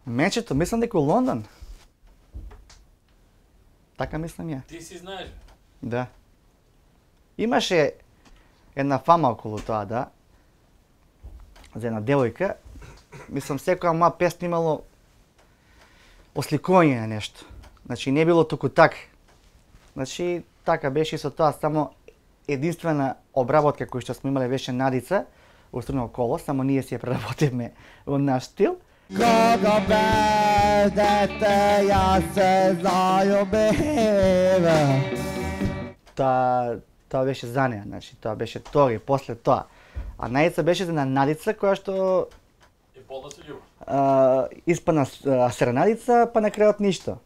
Мечето, мислам дека у Лондон. Така мислам ја. Ти си знаеш. Да. Имаше една фама околу тоа, да. За една девојка. Мислам, секоја моја песна имало осликување на нешто. Значи, не било туку така. Значи, така беше и со тоа, само единствена обработка која што сме имале беше Надица, Устрно коло, само ние си ја преработивме во наш стил. Кога бе дете, ја се зајубив. Тоа беше за неа, значи, тоа беше тори, после тоа. А Надица беше за Надица, која што И полна се љубов. испадна серенадица, па на крајот ништо.